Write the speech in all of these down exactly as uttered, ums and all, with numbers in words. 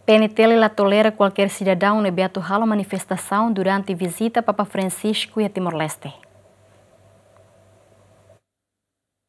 P N T L la tolera kualkér sidadaun ne'ebé atu halo manifestasaun durante vizita Papa Francisco iha Timor-Leste.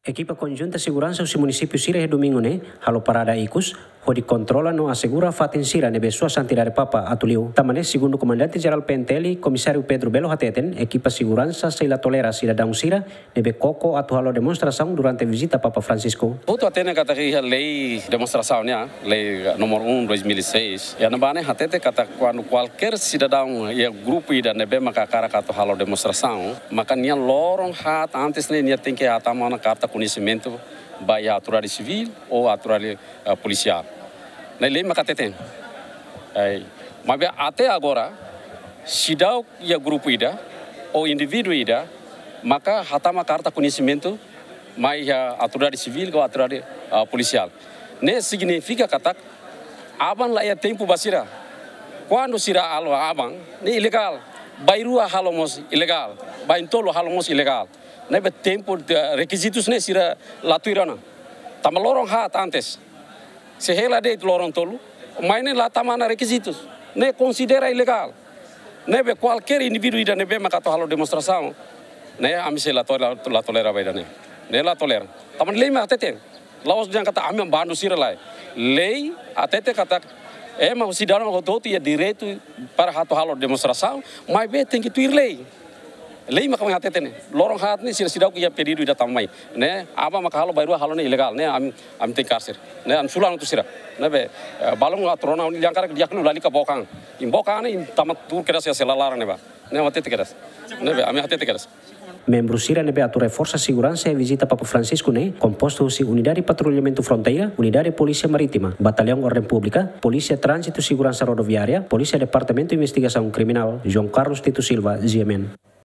Ekipa konjunta seguransa husi munisípiu sira iha domingu ne'e halo parada ikus, hodi kontrola no asegura fatin sira ne'ebé Sua Santidade Papa atu liu. Tanba ne'e, segundu Komandante Jerál P N T L, Komisáriu Pedro Belo hateten, ekipa seguransa sei la tolera sidadaun sira ne'ebé koko atu halo demonstrasaun durante vizita Papa Francisco. Hotu hatene katak iha lei demonstrasaun nian, lei número um, dois mil e seis. Iha ne'ebá ne'e hatete katak kuandu kualkér sidadaun iha grupu ida ne'ebé maka hakarak atu halo demonstrasaun, maka nia loron haat antes ne'e nia tenke hatama ona karta koñesimentu ba iha autoridade sivíl ou autoridade, eh, polisiál. Ne'e lei maka hateten. Ai, maibé até agora, seidauk iha grupu ida ou indivíduu ida maka hatama karta koñesimentu mai iha autoridade sivíl ou autoridade, ah, polisiál. Ne'e signifika katak aban la iha tempu ba sira. Kuandu sira halo aban, ne'e ilegál. Bainrua halo mós ilegál. Baintolu halo mós ilegál. Ne'ebé tempu, eh, rekizitus ne'e sira la tuir ona. Tanba loron haat antes. Se hela de'it loron tolu, mai ne'e la tama ona rekizitus. Ne'e konsidera ilegál. Ne'ebé kualkér indivíduu ida ne'ebé maka atu halo demonstrasaun, ne'e ami sei la to-, la, la tolera ba ida-ne'e. Ne'e la tolera. Tanba lei mak hateten. La'ós dehan katak ami bandu sira, lae. Lei hatete katak ema sidadaun hotu-hotu iha direitu para atu halo demonstrasaun, maibé tenke tuir lei. Lei maka mai hateten ne'e. Loron haat ne'e sira seidauk iha pedidu ida tama mai. Ne'e, aban maka halo, bainrua halo ne'e ilegál. Ne'e ami, ami tenke kaer sira. Ne'e ami sulan hotu sira. Ne'ebé, eh, balun atu rona ha'u-nia lian karik di'ak liu lalika book an. Imi book an ne'e imi tama tuur kedas iha sela laran ne'ebá. Ne'e ami hatete kedas. Ne'ebé, ami hatete kedas. Membru sira ne'ebé atu reforsa seguransa iha vizita Papa Francisco ne'e kompostu husi Unidade Patrullamentu Fronteira, Unidade Polísia Marítima, Batallaun Orden Públika, Polísia Tránzitu Seguransa Rodoviária, Polísia Departamentu Investigasaun Kriminál. João Carlos Tito Silva, G M N.